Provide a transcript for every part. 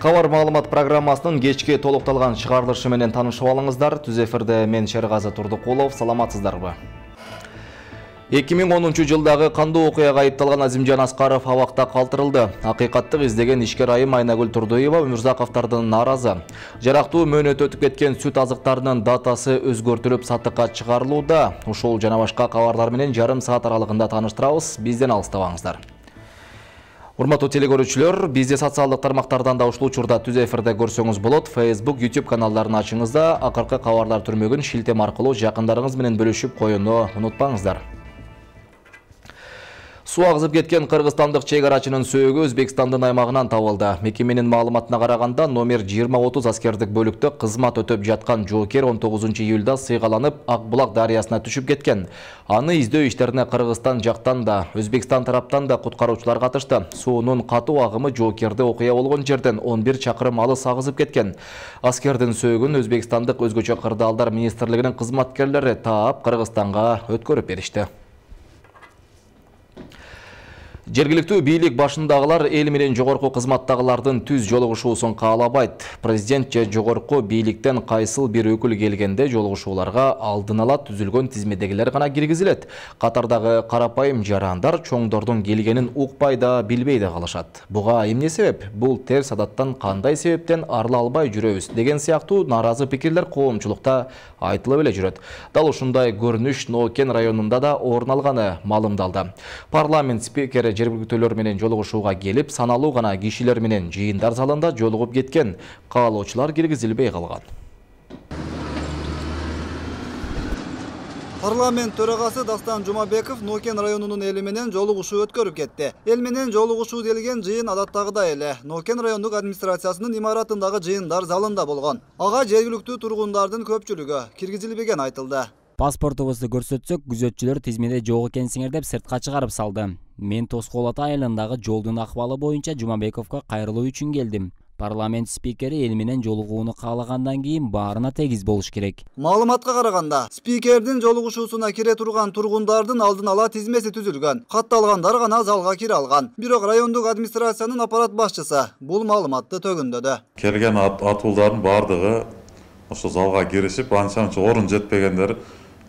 Кабар маалымат программасынын кечки толукталган чыгарылышы менен таанышып алыңыздар. Түз эфирде мен Шергазы Турдукулов. Саламатсыздарбы? 2010 жылдагы кандуу окуяга айыпталган Азимжан Аскаров абакта калтырылды. Акыйкаттык издеген ишкер айым Айнагүл Турдуева Өмүрзаковдордон нааразы. Жарактуу мөөнөт өтүп кеткен сүт азыктарынын датасы өзгөртүлүп сатыкка чыгарылууда. Ушул жана башка кабарлар менен жарым саат аралыгында тааныштырабыз. Бизден алыстабаңыздар. Урматтуу телекөрүүчүлөр, бизди социалдык тармактардан да ушул учурда түз эфирде көрсөңүз болот. Facebook, YouTube каналдарын ачыңызда акыркы кабарлар түрмөгүн шилтем аркылуу жакындарыңыз менен бөлүшүп коюуну унутпаңыздар. Суу агызып кеткен кыргызстандык чек-арачынын сөөгү Өзбекстандын аймагынан табылды. Мекеменин маалыматына караганда, номер 20-30 аскердик бөлүктө кызмат өтөп жаткан жоокер 19 июлда сыйгаланып Акбулак дарыясына түшүп кеткен. Аны издөө иштерине Кыргызстан жактан да, Өзбекстан тараптан да куткаруучулар катышты. Суунун катуу агымы жоокерди окуя болгон жерден 11 чакырым алыс агызып кеткен. Аскердин сөөгүн Өзбекстандык өзгөчө кырдаалдар министрлигинин кызматкерлери таап Кыргызстанга өткөрүп беришти. Жергиликтүү бийлик башындагылар эл менен жогорку кызматтагылардын түз жолугушуусун каалабайт. Президент же жогорку бийликтен кайсыл бир өкүл келгенде жолугушууларга алдын ала түзүлгөн тизмедегилер гана киргизилет. Катардагы карапайым жарандар чоңдордун келгенин укпай да билбей да калышат. Буга эмне себеп? Бул терс адаттан кандай себептен арыла албай жүрөбүз деген сыяктуу нааразы пикирлер коомчулукта айтылып эле жүрөт. Дал ушундай көрүнүш Нокен районунда да орун алганы маалымдалды. Парламент спикери жергиликтүүлөр менен жолугушууга келип, саналуу гана кишилер менен жыйындар залында жолугуп кеткен. Каалоочулар киргизилбей калган. Парламент төрагасы Дастан Жумабеков Нокен районунун эли менен жолугушуу өткөрүп кетти. Эл менен жолугушуу делген жыйын адаттагыдай эле Нокен райондук администрациясынын имаратындагы жыйындар залында болгон. Ага жергиликтүү тургундардын көпчүлүгү киргизилбеген айтылды. Паспортубузду көрсөтсөк, күзөтчүлөр тизмеде жок экенсиңер деп сыртка чыгарып салды. Мен Тоскоол Ата айылындагы жолдун акыбалы боюнча Жумабековго кайрылуу үчүн келдим. Парламент спикери эл менен жолугууну каалагандан кийин баарына тегиз болуш керек. Маалыматка караганда, спикердин жолугушуусуна кире турган тургундардын алдын ала тизмеси түзүлгөн. Катталгандар гана залга кире алган. Бирок райондук администрациянын аппарат башчысы бул маалыматты төгүндөдү. Келген атуулдардын баардыгы ошо залга киришип, анча-мынча орун жетпегендер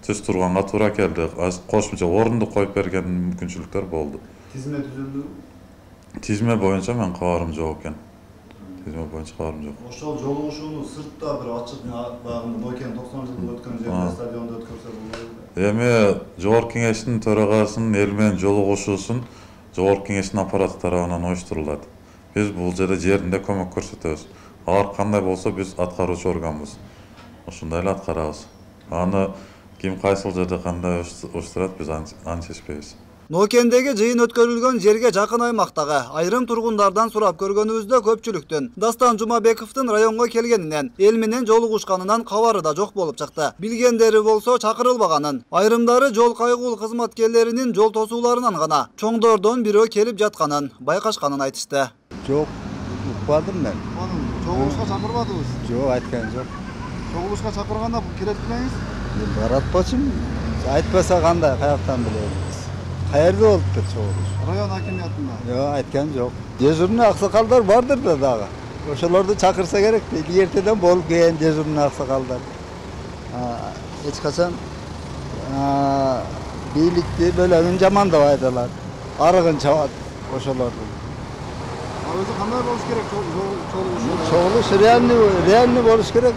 түз турганга туура келди. Кошумча орунду коюп берген мүмкүнчүлүктөр болду. Тизме түзүлдү? Тизме боюнча мен кабарым жок экен. Тизме боюнча кабарым жок. Ошол жолугушууну сыртта бир ачык багында Нокен 90 жылда өткөн жерде стадиондо өткөрсө болбойбу? Эми жогорку кеңештин төрагасынын эл менен жолугушуусун жогорку кеңештин аппараты тарабынан уюштурулат. Биз бул жерде жеринде көмөк көрсөтөбүз. Алар кандай болсо биз аткаруучу органбыз. Ошондой эле аткарабыз. Аны ким кайсыл жерде кандай уюштурат биз аны чечпейбиз. Нокендеги жыйын өткөрүлгөн жерге жакын аймактагы айрым тургундардан сурап көргөнүбүздө көпчүлүктүн Дастан Жумабековдун районго келгенинен, эл менен жолугушканынан кабары да жок болуп чыкты. Билгендери болсо чакырылбаганын. Айрымдары жол кайгул кызматкерлеринин жол тосууларынан гана чоңдордон бирөө келип жатканын байкашканын айтышты. Жок, укпадым мен. Чогулушка чакырбадыңыз? Жок, айткан жок. Чогулушка чакырганда кире турбайсыз? Баратпачым. Айтпаса кандай, каяктан билебиз? Каерде болуптур чогулуш? Район хакимиятында. Жок, айткан жок. Дежурный аксакалдар бардыр да дагы. Ошолорду чакырса керек. Эртеден болуп келген дежурный аксакалдар. Эч качан бийликти бөлөгүн жамандап айталар. Арыгын чабат ошолорду. Өзү кандай болуш керек чогулуш? Реальный болуш керек.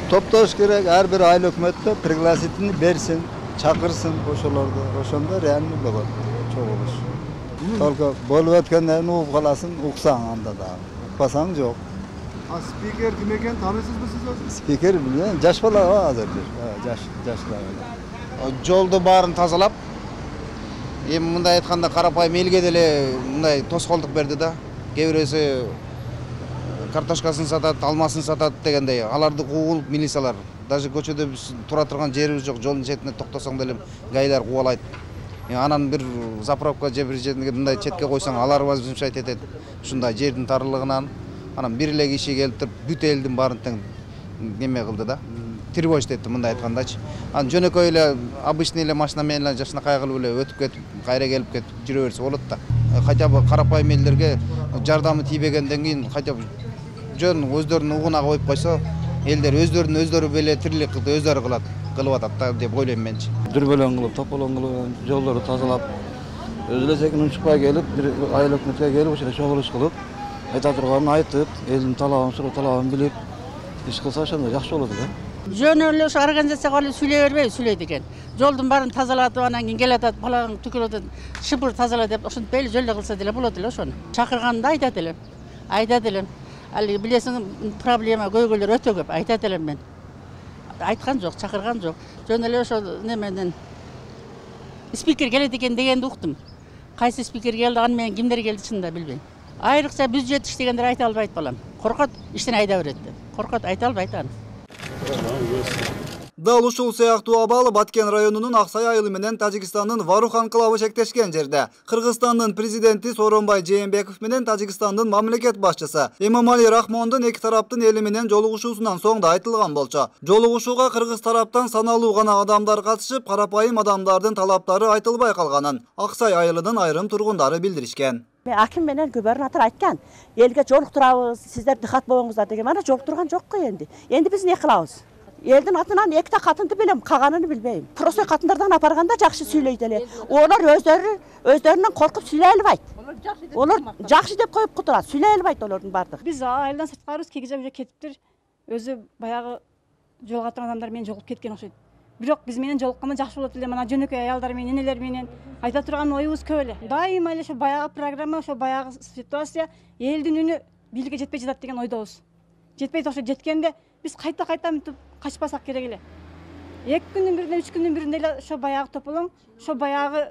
Топтош керек, ар бир айыл өкмөттө пригласительный берсин, чакырсын ошолорду. Ошондо реальный болот чогулуш. Только болуп өткөндөн угуп каласың, уксаң анда да. Укпасаң жок. Спикер ким экенин таанысызбы сиз өзү? Спикер билбейм, жаш бала азыр. Жаш. Жолду баарын тазалап, эми мындай айтканда карапайым элге деле мындай тоскоолдук берди да. Кээ бирөөсү картошкасын сатат, алмасын сатат дегендей. Аларды кууп милициялар. Даже көчөдө биз тура турган жерибиз жок, жолдун четине токтосоң деле гайлар кубалайт. Анан бир заправка же бир жерге мындай четке койсоң, алар возмущать этет. Ушундай жердин тарылыгынан анан бир эле киши келип туруп бүт элдин баарын тең неме кылды да. Тревожить этти мындай айткандачы. Анан жөнөкөй эле обычный эле машина менен эле жакшынакай кылып эле өтүп кетип, кайра келип кетип жүрө берсе болот да. хотя бы карапайым элдерге жардамы тийбегенден кийин хотя бы жөн өздөрүнүн угуна коюп койсо элдер өздөрү беле тирилик өздөрү кылып атат да деп ойлойм менчи. Дүрбөлөң кылып, тополоң кылып, жолдорду тазалап, өз элесекин унчукпай келип, бир айыл өкмөткө келип, ошол чогулуш кылып, айта турганын айтып, элдин талабын, суроо талабын билип, иш кылса ошондо жакшы болот да. Жөн эле ошо организацияга алып сүйлөй бербейби, сүйлөйт экен. Жолдун баарын тазалатып, анан кийин келатат, балаң түкүрөт, шыпыр тазала деп ошентпейли, жөлдө кылса деле болот эле ошону. Чакырганда айтат элем. Али билесиң, проблема көйгөйлөр өтө көп, айтат элем мен. Айткан жок, чакырган жок. Жөн эле ошо неменен спикер келет экен дегенди уктум. Кайсы спикер келди, аны менен кимдер келди чынында билбейм. Айрыкча бюджет иштегендер айта албайт балам. Коркот, иштен айда берет деп. Коркот, айта албайт аны. Дал ушул сыяктуу абал Баткен районунун Аксай айылы менен Тажикстандын Варух анклавы шектешкен жерде. Кыргызстандын президенти Сооронбай Жээнбеков менен Тажикстандын мамлекет башчысы Эмомали Рахмондун эки тараптын эли менен жолугушуусунан соң да айтылган болчу. Жолугушууга кыргыз тараптан саналуу гана адамдар катышып, карапайым адамдардын талаптары айтылбай калганын Аксай айылынын айрым тургундары билдиришкен. Аким менен губернатор айткан, элге жолуктурабыз, сиздер дыкат болуңуздар деген. Мана жолуктурган жок го энди. Энди биз эмне кылабыз? Элдин атынан экте катынды билем, каганын билбейм. Просто катындардан апарганда жакшы сүйлөйт эле. Олар өздөрүнөн коркуп сүйлөй албайт. Олар жакшы деп коюп кутурат, сүйлөй албайт олордун бардыгы. Биз айылдан сырткарыбыз, кегиже уже кетиптир. Өзү баягы жолугатан адамдар менен жолугуп кеткен окшойт. Бирок биз менен жолукканда жакшы болот эле. Мана жөнөкөй аялдар менен, энелер менен айта турган оюбуз көп эле. Дайыма эле ошо баягы программа, ошо баягы ситуация элдин үнү бийликке жетпей жатат деген ойдобуз. Жетпейт, ошо жеткенде биз кайта мынтип качпасак керек эле. 2 күндүн биринде, 3 күндүн биринде эле ошо баягы тополоң, ошо баягы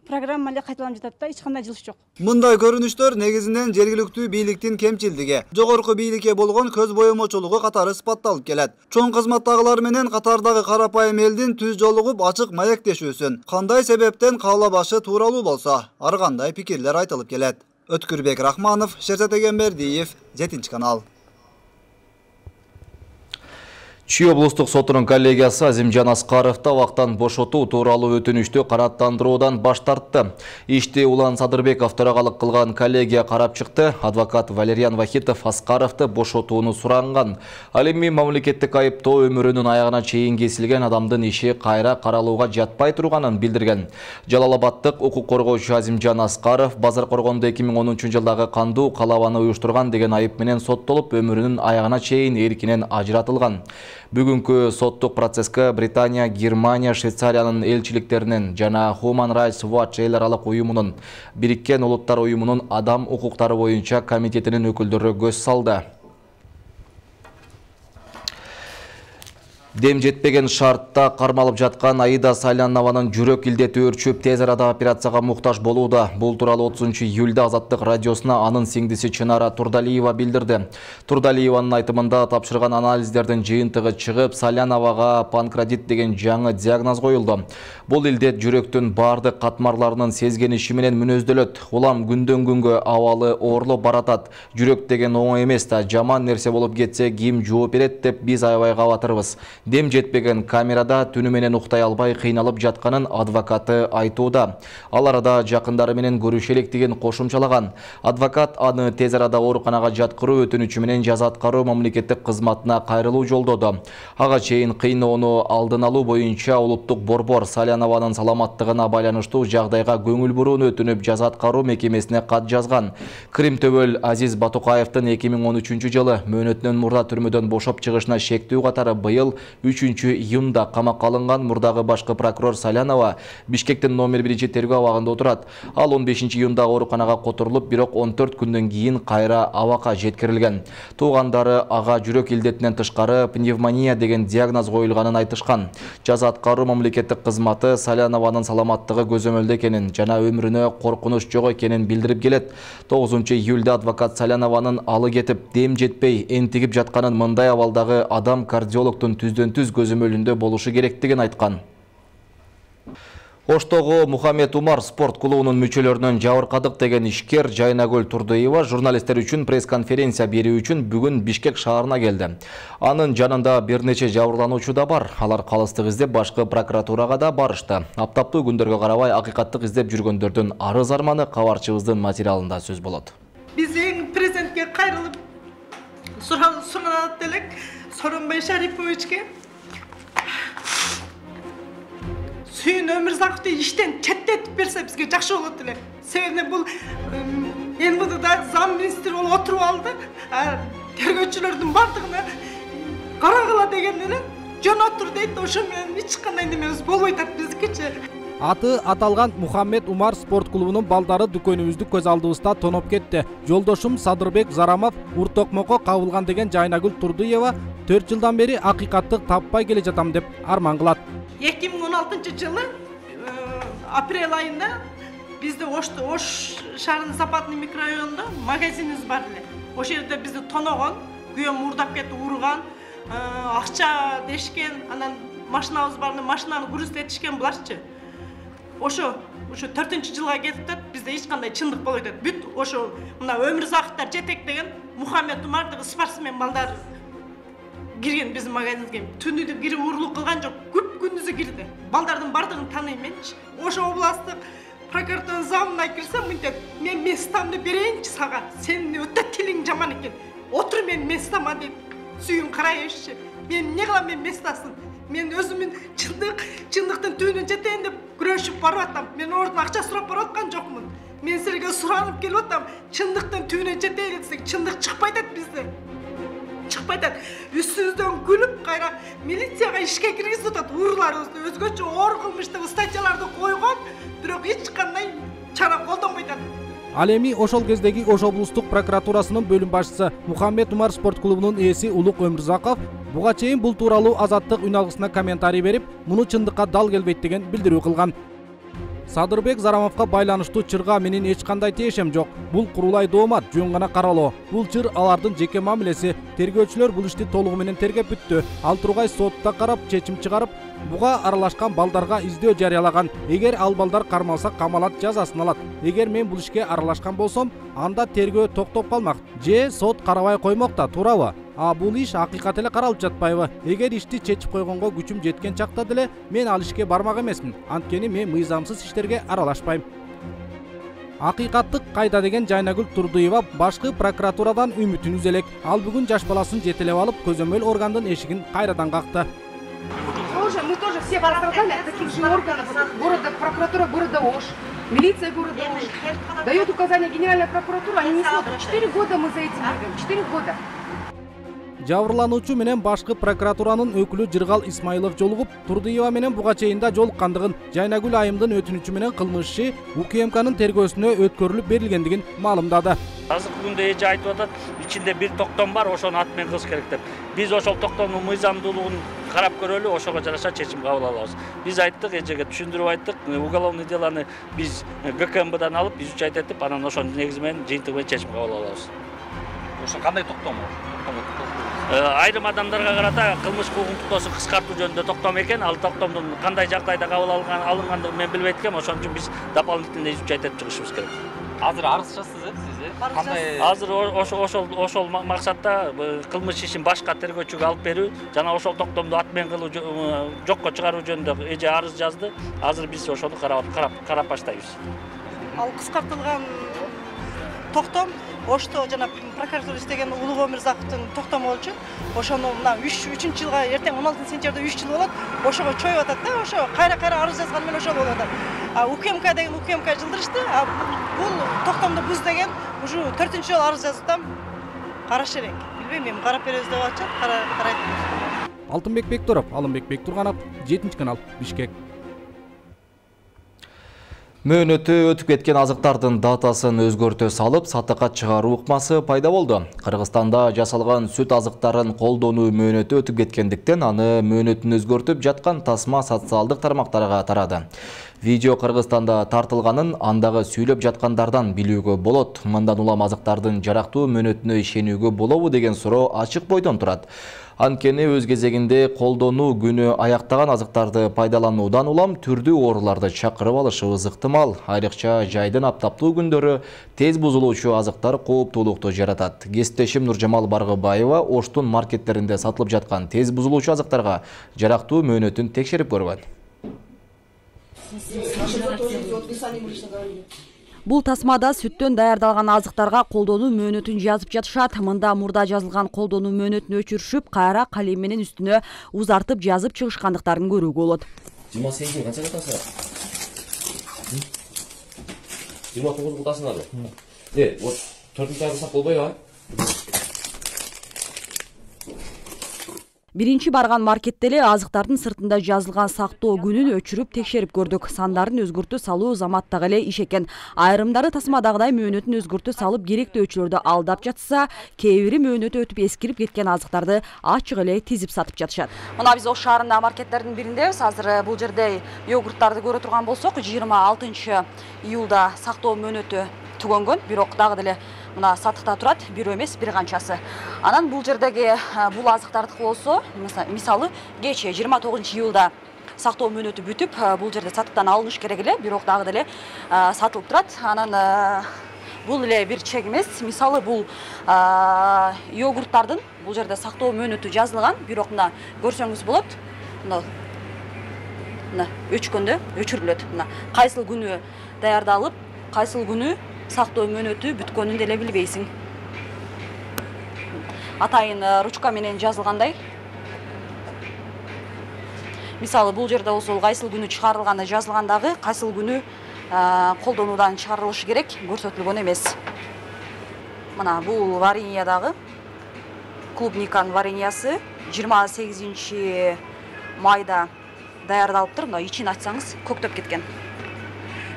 программа эле кайталанып жатат да, эч кандай жылыш жок. Мындай көрүнүштөр негизинен жергиликтүү бийликтин кемчилдиги, жогорку бийликке болгон көз боемочулугу катары испатталып келет. Чоң кызматтагылар менен катардагы карапайым элдин түз жолугуп ачык маектешүүсүн кандай себептен каалабашы тууралуу болсо, ар кандай пикирлер айтылып келет. Өткүрбек Рахманов, Шерсет Эгембердиев, 7-канал. Чүй облустук сотунун коллегиясы Азимжан Аскаровду абактан бошотуу тууралуу өтүнүштү канааттандыруудан баш тартты. Ишти Улан Садырбеков төрагалык кылган коллегия карап чыкты. Адвокат Валерьян Вахитов Аскаровду бошотууну суранган. Ал эми мамлекеттик айыптоо өмүрүнүн аягына чейин кесилген адамдын иши кайра каралууга жатпай турганын билдирген. Жалалабаддык укук коргоочу Азимжан Аскаров базар коргондо 2010 жылдагы кандуу калабаны уюштурган деген айып менен соттолуп, өмүрүнүн аягына чейин эркинен ажыратылган. Бүгүнкү соттук процесске Британия, Германия, Швейцариянын элчиликтеринин жана Human Rights Watch эл аралык уюмунун, Бириккен Улуттар уюмунун адам укуктары боюнча комитетинин өкүлдөрү көз салды. Дем жетпеген шартта кармалып жаткан Аида Салянованын жүрөк илдети өрчүп, тез арада операцияга муктаж болууда. Бул тууралуу 30 июлда Азаттык радиосуна анын сиңдиси Чынара Турдалиева билдирди. Турдалиеванын айтымында тапшырган анализдердин жыйынтыгы чыгып, Саляновага панкреатит деген жаңы диагноз коюлду. Бул илдет жүрөктүн бардык катмарларынын сезгениши менен мүнөздөлөт. Улам күндөн күнгө абалы оорлоп баратат. Жүрөк деген оңой эмес да, жаман нерсе болуп кетсе ким жооп берет деп биз аябай кабатырбыз. Дем жетпеген камерада түнү менен уктай албай кыйналып жатканын адвокаты айтууда. Ал арада жакындары менен көрүшө элек деген кошумчалаган. Адвокат аны тез арада ооруканага жаткыруу өтүнүчү менен жаза аткаруу мамлекеттик кызматына кайрылуу жолдоду. Ага чейин кыйноону алдын алуу боюнча улуттук борбор Салянованын саламаттыгына байланыштуу жагдайга көңүл бурууну өтүнүп жаза аткаруу мекемесине кат жазган. Крим төбөл Азиз Батукаевдин 2013 жылы мөөнөтүнөн мурда түрмөдөн бошоп чыгышына шектүү катары быйыл 3 июнда камакка алынган мурдагы башкы прокурор Салянова Бишкектин номер 1 тергөө абагында отурат. Ал 15 июнда ооруканага которулуп, бирок 14 күндөн кийин кайра абакка жеткирилген. Туугандары ага жүрөк илдетинен тышкары пневмония деген диагноз коюлганын айтышкан. Жаза аткаруу мамлекеттик кызматы Салянованын саламаттыгы көзөмөлдө экенин жана өмүрүнө коркунуч жок экенин билдирип келет. 9 июлда адвокат Салянованын алы кетип, дем жетпей энтигип жатканын, мындай абалдагы адам кардиологдун түздөн түз көзөмөлүндө болушу керектигин айткан. Оштогу Мухаммед Умар спорт клубунун мүчөлөрүнөн жабыркадык деген ишкер Жайнагүл Турдуева журналисттер үчүн пресс-конференция берүү үчүн бүгүн Бишкек шаарына келди. Анын жанында бир нече жабырлануучу да бар. Алар калыстык издеп башкы прокуратурага да барышты. Аптаптуу күндөргө карабай акыйкаттык издеп жүргөндөрдүн арыз арманы кабарчыбыздын материалында сөз болот. Биз эң президентке кайрылып суранат элек Сооронбай Шариповичке Сүйүн Өмүрзаковду иштен четтетип берсе бизге жакшы болот эле. Себеби бул МВДда зам министр болуп отуруп алды. Тергөөчүлөрдүн бардыгына карагыла деген эле жөн отур дейт. Ошо менен эч кандай немебиз болбой атат биздикичи. Аты аталган Мухаммед Умар спорт клубунун балдары дүкөнүбүздү көз алдыбызда тоноп кетти. Жолдошум Садырбек Зарамов уртокмокко кабылган деген Жайнагүл Турдуева 4 жылдан бери акыйкаттык таппай келе жатам деп арман кылат. 2016 жылы апрель айында бизде Ош шаарынын Западный микрорайонунда магазинибиз бар эле. Ошол жерде бизди тоногон, күйөөм мурдап кетип урган, акча дешкен, анан машинабыз бар, машинаны грузтетишкен буларчы. Ошо 4-жылга келип атат, бизде эч кандай чындык болбой атат. Бүт ошо мына Өмүрзаковдор жетектеген Мухаммед Умардагы спортсмен балдар кирген биздин магазинге. Түнү деп кирип урлук кылган жок, күп күндүзү кирди. Балдардын бардыгын тааныйм менчи. Ошо областтык прокуратуранын замына кирсем, мынтет, мен местамды берейинчи сага. Сенин өтө тилиң жаман экен. Отур мен местама деп сүйүн карайбызчы. Мен эмне кылам, мен местасын. Мен өзүмүн чындыктын түбүнө жетейин деп күрөшүп барып атам. Мен ордун акча сурап барып аткан жокмун. Мен силерге суранып келип атам. Чындыктын түбүнө жетейин десек, чындык чыкпай атат бизде. Чыкпай атат. Үстүбүздөн күлүп, кайра милицияга ишке киргизип атат. Урларыбызды өзгөчө оор кылмыштуу статьяларды койгон, бирок эч кандай чара колдонбой атат. Ал эми ошол кездеги Ош облустук прокуратурасынын бөлүм башчысы Мухаммед Умар спорт клубунун ээси Улук Өмүрзаков буга чейин бул тууралуу Азаттык үн алгысына комментарий берип, муну чындыкка дал келбейт деген билдирүү кылган. Садырбек Зарамовго байланыштуу чырга менин эч кандай тиешем жок. Бул курулай доомат, жөн гана каралоо. Бул чыр алардын жеке мамилеси. Тергөөчүлөр бул ишти толугу менен тергеп бүттү. Ал тургай сотто карап чечим чыгарып, буга аралашкан балдарга издөө жарыялаган. Эгер ал балдар кармалса камалат, жазасын алат. Эгер мен бул ишке аралашкан болсом, анда тергөө токтоп калмак. Же сот карабай коймокта, туурабы? Бул иш акыйкат эле каралып жатпайбы? Эгер ишти чечип койгонго күчүм жеткен чакта деле мен ал ишке бармак эмесмин. Анткени мен мыйзамсыз иштерге аралашпайм. Акыйкаттык кайда деген Жайнагүл Турдуева башкы прокуратурадан үмүтүн үзө элек. Ал бүгүн жаш баласын жетелеп алып, көзөмөл органдын эшигин кайрадан какты. Мы тоже все пострадали от таких же органов города, прокуратура города Ош, милиция города Ош. Дает указания Генеральная прокуратура, они не смотрят. 4 года мы за этим бегаем, 4 года. Жабырлануучу менен башкы прокуратуранын өкүлү Жыргал Исмаилов жолугуп, Турдуева менен буга чейин да жолуккандыгын, Жайнагүл айымдын өтүнүчү менен кылмыш иши УКМКнын тергөөсүнө өткөрүлүп берилгендигин маалымдады. Азыркы күндө эже айтып атат, ичинде бир токтом бар, ошону ат менен кылыш керек деп. Биз ошол токтомдун мыйзамдуулугун карап көрөлү, ошого жараша чечим кабыл алабыз. Биз айттык, эжеге түшүндүрүп айттык, уголовный делоны биз ГКМБдан алып, изучать этип, анан ошонун негизи менен жыйынтыгы менен чечим кабыл алабыз. Ошо кандай токтом? Айрым адамдарга карата кылмыш укуктуктоосун кыскартуу жөнүндө токтом экен. Ал токтомдун кандай жагдайда кабыл алынгандыгын мен билбейт экенм. Ошон үчүн биз дополнительно изучать этип чыгышыбыз керек. Азыр арызчысыз, сиз? Азыр ошол максатта кылмыш ишин башка тергөөчүгө алып берүү жана ошол токтомду ат менен кылуу жокко чыгаруу жөнүндө эже арыз жазды. Азыр биз ошону карап баштайбыз. Ал кыскартылган токтом Ошто жана прокуратура иштеген Улук Өмүрзаковдун токтому болчу. Ошону мына 3 жылга эртең 16 сентябрда 3 жыл болот. Ошого чоюп атат да, ошо кайра арыз жазган менен ошол болуп атат. УКМК деген УКМК жылдырышты. Бул токтомду буз деген уже 4-жолу жолу арыз жаздым. Караш керек. Билбейм, мен карап беребиз деп атышат. Карайт. Алтынбек Бектуров, Алымбек Бектурганов, 7-канал, Бишкек. Мөөнөтү өтүп кеткен азыктардын датасын өзгөртө салып, сатыкка чыгаруу ыкмасы пайда болду. Кыргызстанда жасалган сүт азыктарын колдонуу мөөнөтү өтүп кеткендиктен аны мөөнөтүн өзгөртүп жаткан тасма социалдык тармактарга тарады. Видео Кыргызстанда тартылганын андагы сүйлөп жаткандардан билүүгө болот. Мындан улам азыктардын жарактуу мөөнөтүнө ишенүүгө болобу деген суроо ачык бойдон турат. Анткени өз кезегинде колдонуу күнү аяктаган азыктарды пайдалануудан улам түрдүү ооруларды чакырып алышыбыз ыктымал. Айрыкча жайдын аптаптуу күндөрү тез бузулуучу азыктар кооптуулукту жаратат. Кесиптешим Нуржамал Баргыбаева Оштун маркеттеринде сатылып жаткан тез бузулуучу азыктарга жарактуу мөөнөтүн текшерип көргөн. Бул тасмада сүттөн даярдалган азыктарга колдонуу мөөнөтүн жазып жатышат. Мында мурда жазылган колдонуу мөөнөтүн өчүрүшүп, кайра калем менен үстүнө узартып жазып чыгышкандыктарын көрүүгө болот. 28 канча катасыңар? 29 катасыңар. Вот 4-нчы айга сак болбойбу? Биринчи барган маркетте эле азыктардын сыртында жазылган сактоо күнүн өчүрүп текшерип көрдүк. Сандарын өзгөртүү салуу заматтагы эле иш экен. Айрымдары тасмадагыдай мөөнөтүн өзгөртүү салып керектөөчүлөрдү алдап жатса, кээ бири мөөнөтү өтүп эскирип кеткен азыктарды ачык эле тизип сатып жатышат. Мына биз Ош шаарындагы маркеттердин бириндебиз. Азыр бул жерде йогурттарды көрө турган болсок, 26 июлда сактоо мөөнөтү түгөнгөн, бирок дагы деле мына сатыкта турат, бирөө эмес, бир канчасы. Анан бул жердеги бул азыктардыкы болсо, мисалы кече 29 июлда сактоо мөөнөтү бүтүп, бул жерде сатыктан алыныш керек эле, бирок дагы деле сатылып турат. Анан бул эле бир чек эмес. Мисалы бул йогурттардын бул жерде сактоо мөөнөтү жазылган, бирок мына көрсөңүз болот. Мына өчкөндө өчүрүлөт. Мына кайсыл күнү даярдалып, кайсыл күнү сактоо мөөнөтү бүткөнүн деле билбейсиң. Атайын ручка менен жазылгандай. Мисалы бул жерде болсо кайсыл күнү чыгарылганы жазылгандагы, кайсыл күнү колдонуудан чыгарылышы керек көрсөтүлгөн эмес. Мына бул вареньядагы клубниканын вареньясы 28 майда даярдалыптыр. Мына ичин ачсаңыз көктөп кеткен.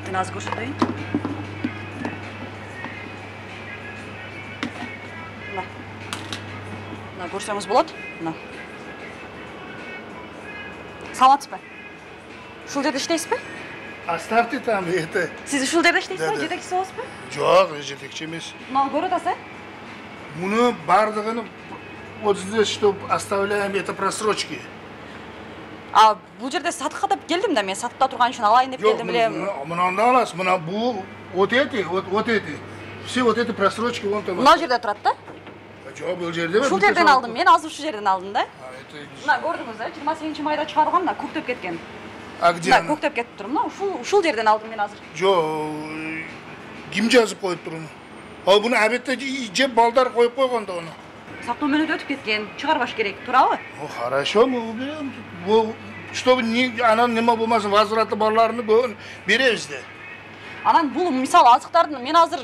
Мен азыр көрсөтөйүн. Мына көрсөңүз болот. Мына. Саламатсызбы? Ушул жерде иштейсизби? Оставьте там это. Сиз ушул жерде иштейсизби? Жетекчиси болосузбу? Жок, жетекчи эмес. Мына көрүп атасыз? Муну бардыгын вот здесь, что оставляем, это просрочки. Бул жерде сатыкка деп келдим да, мен сатыкта турган үчүн алайын деп келдим эле. Мынанда аласыз, мына бул вот эти. Все вот эти просрочки вон там. Мына жерде турат да? Жок, бул жерде. Ушул жерден алдым, мен азыр ушул жерден алдым да. Мына көрдүңүз да, 28 майда чыгарылган, мына көктөп кеткен. Где? Мына көктөп кетип тур, мына ушул жерден алдым мен азыр. Жок, ким жазып коюп тур муну? Ал буну абетте жеп балдар коюп койгон да уну. Сактоо мөөнөтү өтүп кеткен, чыгарбаш керек, туурабы? Хорошо, мы уберем. Чтобы анан неме болмасын, возвраты барларыны беребиз да. Анан бул мисалы азыктардын мен азыр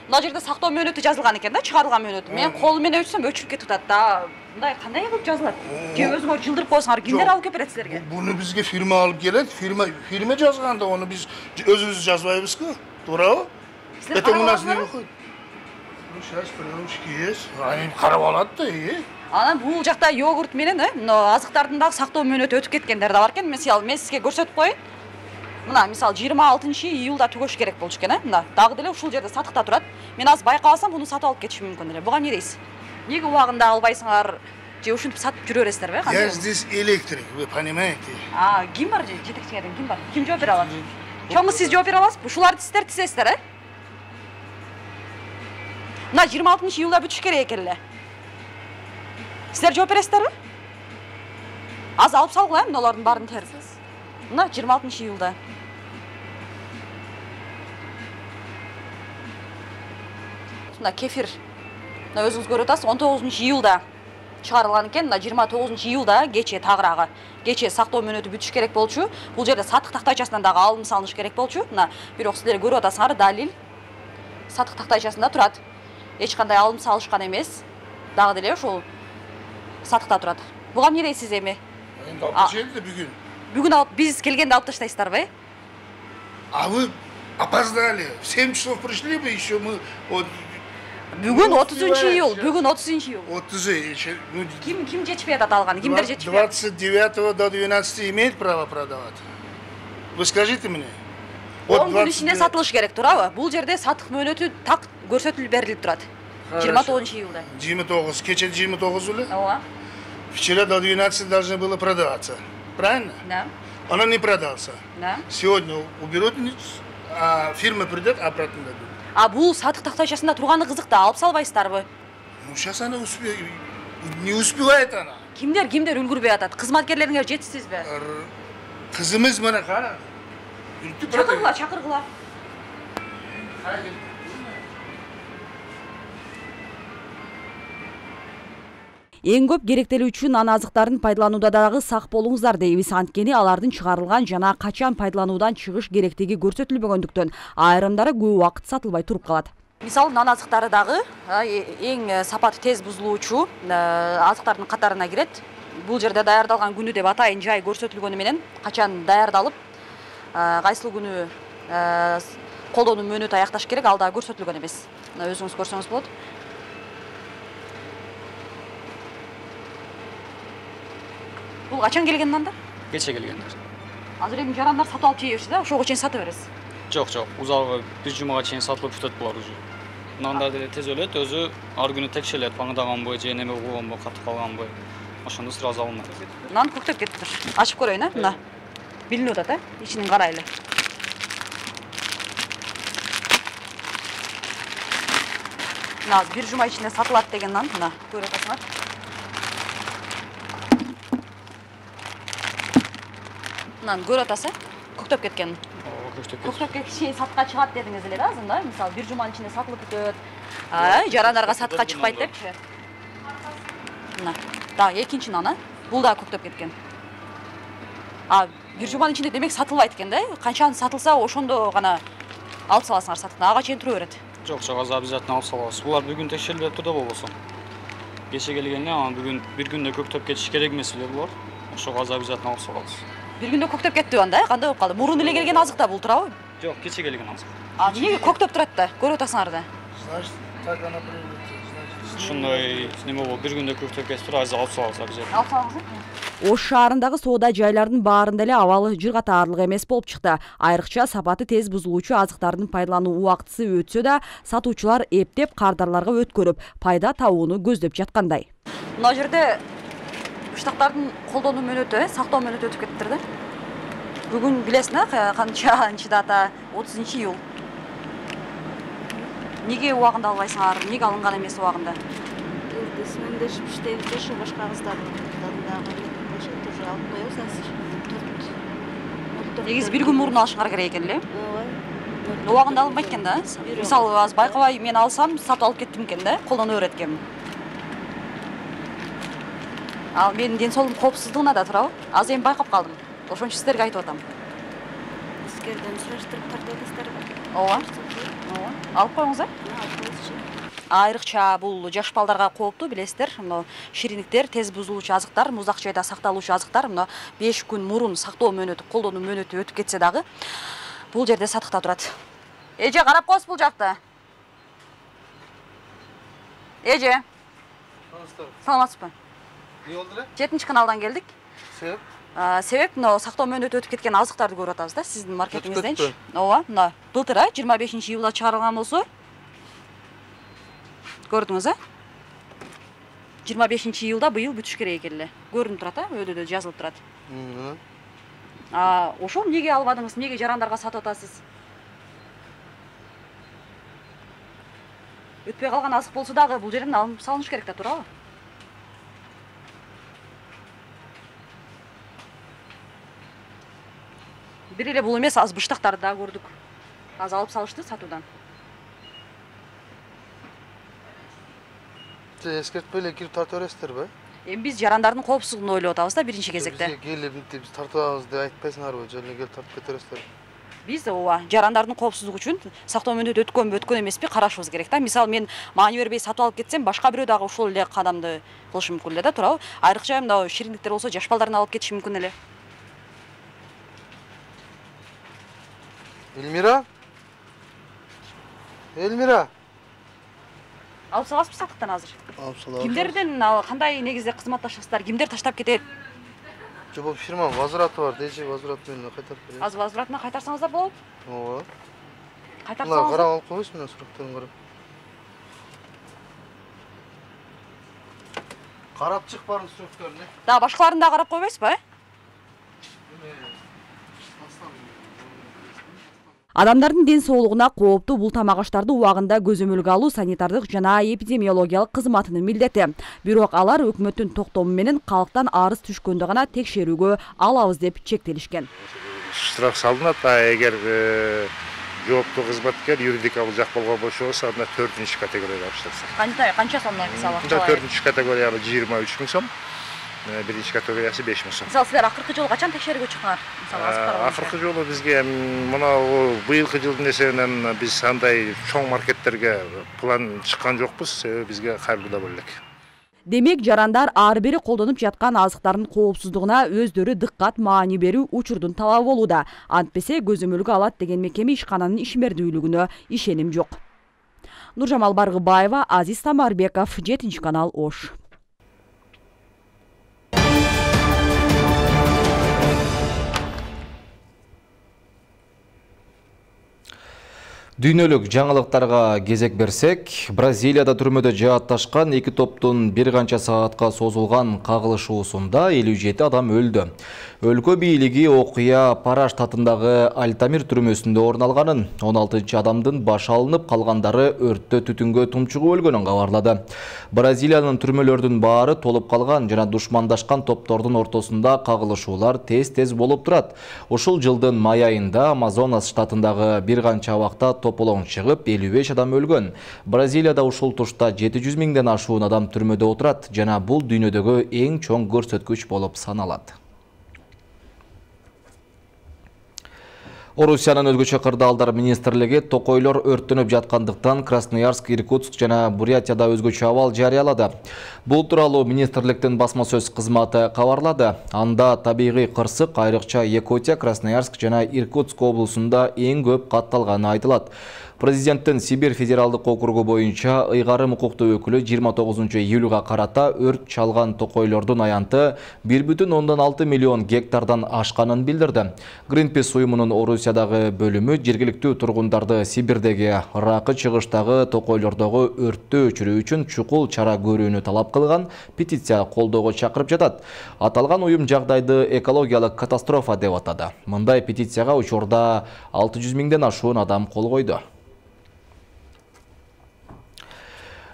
мына жерде сактоо мөөнөтү жазылган экен да, чыгарылган мөөнөтү. Мен колу менен өчсөм өчүрүп кетип атат да. Мындай кандай кылып жазылат? Же өзүңөр жылдырып койсоңор, кимдер алып келип берет силерге? Буну бизге фирма алып келет, фирма жазган да, ону биз өзүбүз жазбайбызбы? Туурабы? Это у нас не выходит. Ну сейчас приемщики есть. Они карап алат да, Анан бул жакта йогурт менен, азыктардын дагы сактоо мөөнөтү өтүп кеткендер да бар экен. Мен сизге көрсөтүп коеюн. Мына мисалы 26 июлда түгөш керек болчу экен, мына дагы деле ушул жерде сатыкта турат. Мен азыр байкабасам, буну сатып алып кетишим мүмкүн эле. Буга эмне дейсиз? Неге убагында албайсыңар? Же ушинтип сатып жүрө бересиздерби? Я здесь электрик, вы понимаете? Ким бар же? Жетекчиңерден ким бар? Ким жооп бере алат? Чоңу сиз жооп бере аласызбы? Ушуларды сиздер тизесиздер, Мына 26 июлда бүтүш керек экен эле. Сиздер жооп бересиздерби? Азыр алып салгыла, мыналардын баарын терип. Мына 26 июлда. Мына кефир. Мына өзүңүз көрүп атасыз, 19 июлда чыгарылган экен. Мына 29 июлда кече тагыраагы. Кече сактоо мөөнөтү бүтүш керек болчу. Бул жерде сатык тактайчасынан дагы алым салыныш керек болчу. Мына бирок силер көрүп атасыңар, далил сатык тактайчасында турат. Эч кандай алым салышкан эмес. Дагы деле ошол сатыкта турат. Буга эмне дейсиз эми? Эми алып келди бүгүн. Бүгүн алып биз келгенде алып таштайсыздарбы? А вы опоздали. В 7 часов пришли бы еще мы вот. Бүгүн 30 июль, бүгүн 30 июль. 30. Ким жетишпей атат алган? Кимдер жетишпей? 29 до 12 имеет право продавать? Вы скажите мне. 10 күн ичинде сатылыш керек, туурабы? Бул жерде сатык мөөнөтү так көрсөтүлүп берилип турат. 29-июлда. 29, кече 29 беле? Ооба. Вчера до 12 должны было продаваться. Правильно? Да. Она не продался. Да. Сегодня уберут, а фирма придет, обратно дадут. А бул сатык тактайчасында турганы кызык да, алып салбайсыздарбы? Ну сейчас она не успевает она. Кимдер үлгүрбөй атат? Кызматкерлериңер жетишсизби? Кызымыз мына кара. Чакыргыла. Эң көп керектелүүчү нан азыктарын пайдаланууда дагы сак болуңуздар дейбиз. Анткени алардын чыгарылган жана качан пайдалануудан чыгыш керектиги көрсөтүлбөгөндүктөн айрымдары көп убакыт сатылбай туруп калат. Мисалы нан азыктары дагы эң сапаты тез бузулуучу азыктардын катарына кирет. Бул жерде даярдалган күнү деп атайын жай көрсөтүлгөнү менен качан даярдалып, кайсыл күнү колдонуу мөөнөтү аякташ керек, ал дагы көрсөтүлгөн эмес. Өзүңүз көрсөңүз болот. Бул качан келген нандар? Кече келгендер. Азыр эми жарандар сатып алып жейбиз да, ошого чейин сатып бересиз. Жок, узагы бир жумага чейин сатылып бүтөт булар уже. Нандар деле тез өлөт, өзү ар күнү текшелет, паңдаганбы, же неме болгонбу, катып калганбы. Ошондо сразу алынат. Нан көктөп кетиптир. Ачып көрөйүн, мына. Билинип атат, ичинен карайлы. Мына бир жума ичинде сатылат деген нан, мына көрүп атасыңар. Нан көрүп атасыз, көктөп кеткен. Көктөп кетиши сатка чыгат дедиңиз эле да, азыр да? Мисалы бир жуманын ичинде сатылып бүтөт. Жарандарга сатка чыкпайт депчи. Мына, дагы экинчи нан, бул да көктөп кеткен. Бир жуманын ичинде демек сатылбайт экен да? Канчаны сатылса, ошондо гана алып саласыңар сатыктан. Ага чейин тура берет. Жок, азыр обязательно алып салабыз. Булар бүгүн текшерилип турда болбосо. Кече келгенде, бүгүн бир күндө көктөп кетиш керек эмес эле булар. Ошого азыр обязательно алып салабыз. Бир күндө көктөп кетти анда, кандай болуп калды? Мурун эле келген азык да бул туурабы? Жок, кече келген азык. Эмнеге көктөп турат да? Көрүп атасыңар да. Значит, так она привыкла. Ушундай неме болуп, бир күндө көктөп кетип туруп, азыр алып салабыз обязательно. Алып салыңыз. Ош шаарындагы соода жайлардын баарында эле абалы жыргатаарлык эмес болуп чыкты. Айрыкча сапаты тез бузулуучу азыктардын пайдалануу убактысы өтсө да, сатуучулар эптеп кардарларга өткөрүп, пайда табууну көздөп жаткандай. Мына жерде Штаттардын колдонуу мөөнөтү, сактоо мөөнөтү өтүп кетиптир да. Бүгүн билесиң канчанчы дата? 30-июл. Неге убагында албайсыңар? Неге алынган эмес убагында? Сүмөндөшүп иштейбиз да, ошо башка кыздардын дагы тоже алып коебуз азыр. Негизи бир күн мурун алышыңар керек экен эле. Ооба. Убагында алынбайт экен да. Мисалы, аз байкабай мен алсам, сатып алып кеттим экен да, колдоно берет экенмин. Ал менин ден соолугум коопсуздугуна да туурабы? Азыр эми байкап калдым. Ошон үчүн сиздерге айтып атам. Сиздерден сураштырып тартабыздарбы? Ооба. Алып коюңуз, Айрыкча бул жаш балдарга кооптуу, билесиздер. Мына шириниктер, тез бузулуучу азыктар, муздак жайда сакталуучу азыктар мына 5 күн мурун сактоо мөөнөтү, колдонуу мөөнөтү өтүп кетсе дагы бул жерде сатыкта турат. Эже, карап коесуз бул жакта. Эже. Саламатсызбы? Не болду эле? 7-каналдан келдик. Себеп? Себеп мына сактоо мөөнөтү өтүп кеткен азыктарды көрүп атабыз да, сиздин маркетиңизденчи. Ооба, мына былтыр 25-июлда чыгарылган болсо. Көрдүңүз, 25-июлда быйыл бүтүш керек экен эле. Көрүнүп турат, өйдө жазылып турат. Ошол эмнеге албадыңыз? Эмнеге жарандарга сатып атасыз? Өтпөй калган азык болсо дагы бул жерден алынып салыныш керек да, туурабы? Бир эле бул эмес, аз быштактарды да көрдүк. Az алып салышты сатуудан. Эскертпей эле кирип тартып бересиздерби? Эми биз жарандардын коопсуздугун ойлоп атабыз да биринчи кезекте. Бизге келип биз тартып алабыз деп айтпайсыңарбы? Же эле келип тартып кете бересиздер? Биз ооба жарандардын коопсуздугу үчүн сактоо мөөнөтү өткөнбү, өткөн эмеспи карашыбыз керек да. Мисалы мен маани бербей сатып алып кетсем, башка бирөө дагы ошол эле кадамды кылышы мүмкүн эле да, туурабы? Айрыкча мына шириндиктер болсо жаш балдарын алып кетиши мүмкүн эле. Элмира? Элмира? Алып саласызбы сатыктан азыр? Алып салабыз. Кимдерден кандай негизде кызматташасыздар? Кимдер таштап кетет? Бул фирма возвраты бар, дейчи возврат менен кайтарып берет. Азыр возврат менен кайтарсаңыздар болот? Ооба. Кайтарсаңыз. Карап алып коебуз менен сурактарын карап. Карап чык барын сурактарын. Да, башкаларын да карап койбойсузбу, Адамдардын ден соолугуна кооптуу бул тамак аштарды убагында көзөмөлгө алуу санитардык жана эпидемиологиялык кызматынын милдети. Бирок алар өкмөттүн токтому менен калктан арыз түшкөндө гана текшерүүгө алабыз деп чектелишкен. Штраф салынат, эгер жооптуу кызматкер юридикалык жак болгон болсо, анда 4-категорияга башталса. Канча сомдон мисалы? 4-категорияга 23 000 сом. Биринчи категориясы 5 000 сом. Мисалы силер акыркы жолу качан текшерүүгө чыккандар? Акыркы жолу бизге мына быйылкы жылдын эсебинен биз андай чоң маркеттерге план чыккан жокпуз, себеби бизге кайрылуу боло элек. Демек жарандар ар бири колдонуп жаткан азыктардын коопсуздугуна өздөрү дыккат маани берүү учурдун талабы болууда. Антпесе көзөмөлгө алат деген мекеме ишкананын ишмердүүлүгүнө ишеним жок. Нуржамал Баргыбаева, Азиз Тамарбеков, 7-канал Ош. Дүйнөлүк жаңылыктарга кезек берсек, Бразилияда түрмөдө жаатташкан эки топтун бир канча саатка созулган кагылышуусунда 57 адам өлдү. Өлкө бийлиги окуя Пара штатындагы Альтамир түрмөсүндө орун алганын, 16 адамдын башы алынып, калгандары өрттө түтүнгө тумчугуп өлгөнүн кабарлады. Бразилиянын түрмөлөрдүн баары толуп калган жана душмандашкан топтордун ортосунда кагылышуулар тез болуп турат. Ушул жылдын май айында Амазонас штатындагы бир канча абакта тополоң чыгып, 55 адам өлгөн. Бразилияда ушул тушта 700 миңден ашуун адам түрмөдө отурат жана бул дүйнөдөгү эң чоң көрсөткүч болуп саналат. Орусиянын өзгөчө кырдаалдар министрлиги токойлор өрттөнүп жаткандыктан Красноярск, Иркутск жана Бурятияда өзгөчө абал жарыялады. Бул тууралуу министрликтин басма сөз кызматы кабарлады. Анда табигый кырсык айрыкча Якутия, Красноярск жана Иркутск облусунда эң көп катталганы айтылат. Президенттин Сибирь федералдык округу боюнча ыйгарым укуктуу өкүлү 29 июлга карата өрт чалган токойлордун аянты 1,6 миллион гектардан ашканын билдирди. Greenpeace уюмунун Орусиядагы бөлүмү жергиликтүү тургундарды Сибирдеги Ракы чыгыштагы токойлордогу өрттү өчүрүү үчүн чукул чара көрүүнү талап кылган петиция колдоого чакырып жатат. Аталган уюм жагдайды экологиялык катастрофа деп атады. Мындай петицияга учурда 600 миңден ашуун адам кол койду.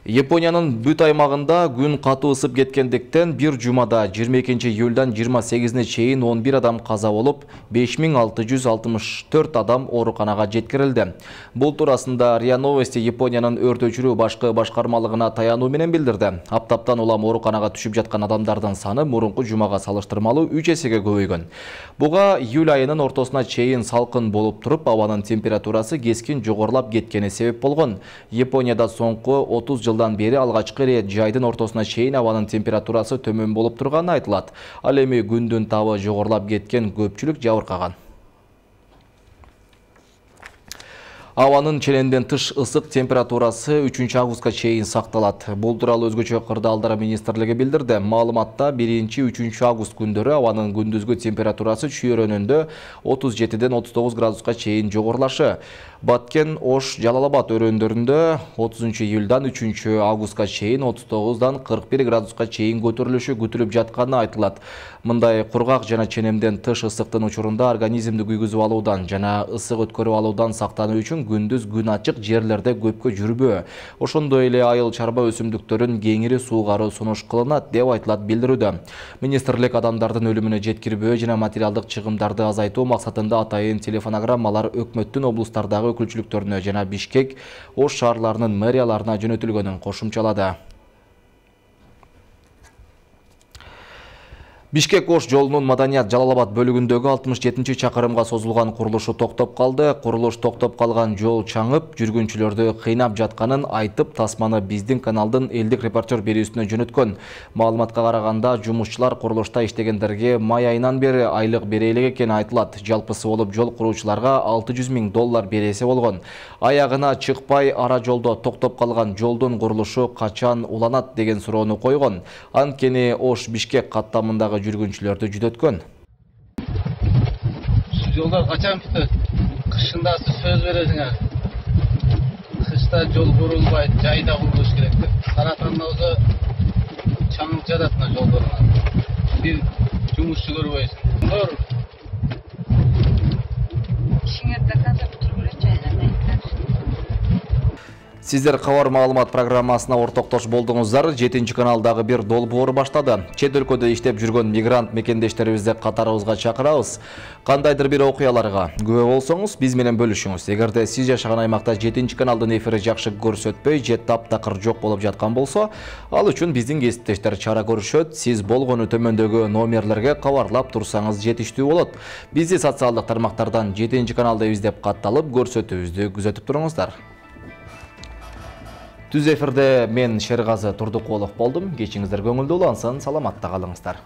Япониянын бүт аймагында күн катуу ысып кеткендиктен бир жумада 22 июлдан 28-не чейин 11 адам каза болуп, 5664 адам ооруканага жеткирилди. Бул туурасында РИА Новости Япониянын өрт өчүрүү башкы башкармалыгына таянуу менен билдирди. Аптаптан улам ооруканага түшүп жаткан адамдардын саны мурунку жумага салыштырмалуу 3 эсеге көбөйгөн. Буга июль айынын ортосуна чейин салкын болуп туруп, абанын температурасы кескин жогорулап кеткени себеп болгон. Японияда соңку 30 жылдан бери алгачкы рет жайдын ортосуна чейин абанын температурасы төмөн болуп турганы айтылат. Ал эми күндүн табы жогорулап кеткен көпчүлүк жабыркаган. Абанын челенден тыш ысык температурасы 3 августка чейин сакталат. Бул тууралуу өзгөчө кырдаалдар министрлиги билдирди. Маалыматта 1-3 август күндөрү абанын күндүзгү температурасы чүйөрөнөндө 37ден 39 градуска чейин жогорулашы. Баткен, Ош, Жалалабад өрөөндөрүндө 30 июлдан 3 августка чейин 39дан 41 градуска чейин көтөрүлүшү күтүлүп жатканы айтылат. Мындай кургак жана ченемден тыш ысыктын учурунда организмди күйгүзүп алуудан жана ысык өткөрүп алуудан сактануу үчүн күндүз күн ачык жерлерде көпкө жүрбөө. Ошондой эле айыл чарба өсүмдүктөрүн кеңири суугаруу сунуш кылынат деп айтылат билдирүүдө. Министрлик адамдардын өлүмүнө жеткирбөө жана материалдык чыгымдарды азайтуу максатында атайын телефонограммалар өкмөттүн облустардагы өкүлчүлүктөрүнө жана Бишкек, Ош шаарларынын мэрияларына жөнөтүлгөнүн кошумчалады. Бишкек-Ош жолунун Маданият Жалалабад бөлүгүндөгү 67 чакырымга созулган курулушу токтоп калды. Курулуш токтоп калган жол чаңып, жүргүнчүлөрдү кыйнап жатканын айтып, тасманы биздин каналдын элдик репортер берүүсүнө жөнөткөн. Маалыматка караганда, жумушчулар курулушта иштегендерге май айынан бери айлык бере элек экени айтылат. Жалпысы болуп жол куруучуларга $600 000 бересе болгон. Аягына чыкпай ара жолдо токтоп калган жолдун курулушу качан уланат деген суроону койгон. Анткени Ош Бишкек каттамындагы жүргүнчүлөрдү жүдөткөн. Жолдар качан бүтөт? Кышында сөз бересиңер. Кышта жол курулбайт, жайда курулуш керек деп. Каратанда болсо чаңырып жатат мына жолдорунан. Бир жумушчу көрбөйсүң. İşinizde kadar oturup çaylamayın. Сиздер кабар маалымат программасына ортоктош болдуңуздар. 7-каналдагы бир долбоор баштады. Чет өлкөдө иштеп жүргөн мигрант мекендештерибизди катарыбызга чакырабыз. Кандайдыр бир окуяларга күбө болсоңуз, биз менен бөлүшүңүз. Эгерде сиз жашаган аймакта 7-каналдын эфири жакшы көрсөтпөй, же таптакыр жок болуп жаткан болсо, ал үчүн биздин кесиптештер чара көрүшөт. Сиз болгону төмөндөгү номерлерге кабарлап турсаңыз жетиштүү болот. Бизди социалдык тармактардан 7-каналда издеп катталып, көрсөтүүбүздү күзөтүп туруңуздар. Түз эфирде мен Шергазы Турдукулов болдум. Кечиңиздер көңүлдүү улансын, саламатта калыңыздар.